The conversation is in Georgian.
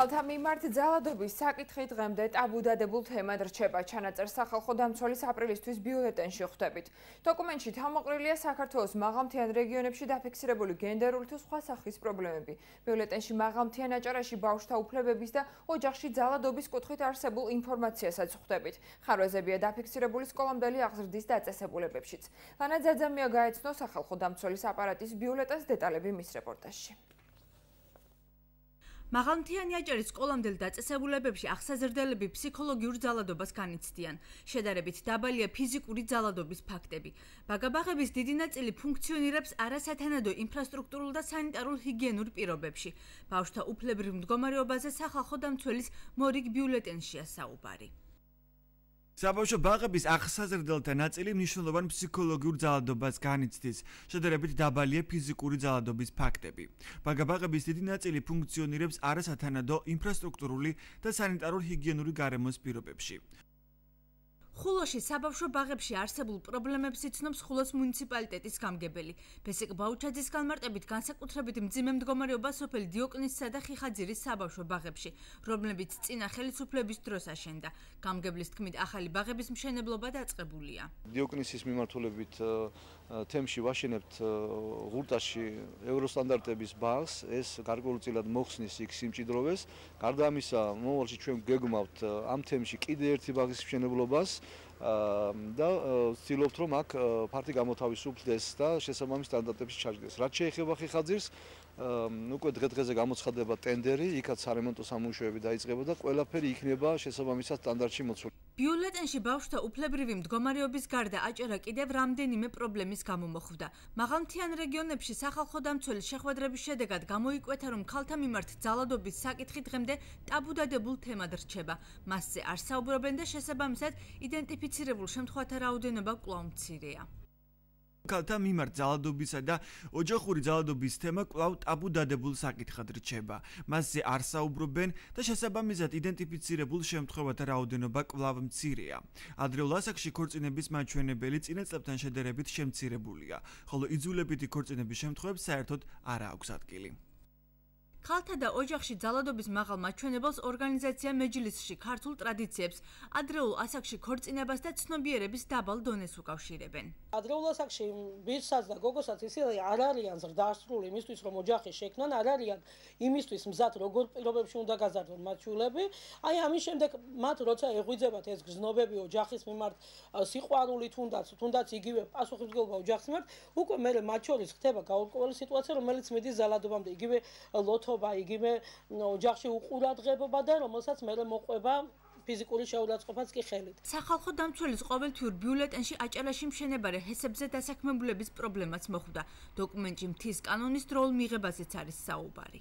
ქალთა მიმართ ძალადობის საკითხი დღემდე ტაბუდადებულ თემად რჩება. ჩანაწერს სახალხო დამცველის აპრილისთვის ბიულეტენში ხვდებით. დოკუმენტში თავმოყრილია საქართველოს მაღალმთიან რეგიონებში დაფიქსირებული გენდერული თუ სხვა სახის პრობლემები. ბიულეტენში მაღალმთიან აჭარაში ბავშვთა უფლებების და ოჯახში ძალადობის კუთხით არსებულ ინფორმაციასაც ხვდებით. ხარვეზებია დაფიქსირებული სკოლამდელი აღზრდის დაწესებულებებშიც. ლანა ძაძამია გაეცნო სახალხო დამცველის აპარატის ბიულეტენს დეტალები მის რეპორტაჟში. მაღალმთიანი აჭარის სკოლამდელ დაწესებულებებში აღსაზრდელები ფსიქოლოგიურ ძალადობას განიცდიან. შედარებით დაბალია ფიზიკური ძალადობის ფაქტები. ბაგაბაღების დიდი ნაწილი ფუნქციონირებს არასათანადო ინფრასტრუქტურულ და სანიტარულ ჰიგიენურ პირობებში. ბავშვთა უფლებრივ მდგომარეობაზე სახალხო დამცველის მორიგ ბიულეტენშია საუბარი. საბავშვო ბაღების აღსაზრდელთა ნაწილი მნიშვნელოვან ფსიქოლოგიურ ძალადობას განიცდის. შედარებით დაბალია ფიზიკური ძალადობის ფაქტები. ბაგაბაღების დიდი ნაწილი ფუნქციონირებს არასათანადო ინფრასტრუქტურული და სანიტარულ-ჰიგიენური გარემოს პირობებში. ხულოში საბავშვო ბაღებში არსებულ პრობლემებს იცნობს ხულოს მუნიციპალიტეტის გამგებელი. ბესიკ ბაუჩაძის განმარტებით განსაკუთრებით მძიმე მდგომარეობა სოფელ დიოკნისსა და ხიხაძირის საბავშვო ბაღებში, რომლებიც წინა ხელისუფლების დროს აშენდა. გამგებლის თქმით, ახალი ბაღების მშენებლობა დაწყებულია. დიოკნისის მიმართულებით თემში ვაშენებთ ღურტაში ევროსტანდარტების ბაღს, ეს გარკვეულწილად მოხსნის იქ სიმჭიდროვეს. გარდა ამისა, მომავალში ჩვენ გეგმავთ ამ თემში კიდე ერთი ბაღის მშენებლობას და ვცდილობთ, რომ აქ ფართი გამოთავისუფლდეს და შესაბამის სტანდარტებში ჩაჯდეს. რაც შეეხება ხიხაძირს, უკვე დღე-დღეზე გამოცხადდება ტენდერი, იქაც სარემონტო სამუშაოები დაიწყება და ყველაფერი იქნება შესაბამისად სტანდარტში მოცული. ბიულეტენში ბავშვთა უფლებრივი მდგომარეობის გარდა აჭარა კიდევ რამდენიმე პრობლემის გამო მოხვდა. მაღალმთიან რეგიონებში სახალხო დამცველის შეხვედრების შედეგად გამოიკვეთა, რომ ქალთა მიმართ ძალადობის საკითხი დღემდე ტაბუდადებულ თემად რჩება. მასზე არ საუბრობენ და შესაბამისად იდენტიფიცირებულ შემთხვევათა რაოდენობა კვლავ მცირეა. ქალთა მიმართ ძალადობისა და ოჯახური ძალადობის თემა კვლავ ტაბუდადებულ საკითხად რჩება. მასზე არ საუბრობენ და შესაბამისად იდენტიფიცირებულ შემთხვევათა რაოდენობა კვლავ მცირეა. ადრეულ ასაკში ქორწინების მაჩვენებელი წინა წლებთან შედარებით შემცირებულია, ხოლო იძულებითი ქორწინების შემთხვევებს საერთოდ არ აქვს ადგილი. ქალთა და ოჯახში ძალადობის მაღალ მაჩვენებელს ორგანიზაცია მეჯლისში ქართულ ტრადიციებს, ადრეულ ასაკში ქორწინებას და ცნობიერების დაბალ დონეს უკავშირებენ. ადრეულ ასაკში ბიჭსაც და გოგოსაც ისე არ არიან ზრდასრული იმისთვის, რომ ოჯახი შექმნან, არ არიან იმისთვის მზად, როგორ პირობებში უნდა გაზარდონ მათ შვილები. აი ამის შემდეგ მათ როცა ეღვიძებათ ეს გზნობები ოჯახის მიმართ, სიყვარული თუნდაც იგივე პასუხისმგებლობა ოჯახის მიმართ, უკვე მე მათ შორის ხდება გაურკვეველი სიტუაცია, რომელიც მიდის ძალადობამდე, იგივე ლოთობა, იგივე ოჯახში უყურადღებობა და რომელსაც მე მოყვება ფიზიკური შეურაცხყოფაც კი ხელით. სახალხო დამცველის ყოველთვიურ ბიულეტენში აჭარაში მშენებარე ჰესებზე დასაქმებულების პრობლემაც მოხვდა. დოკუმენტში მთის კანონის დროულ მიღებაზეც არის საუბარი.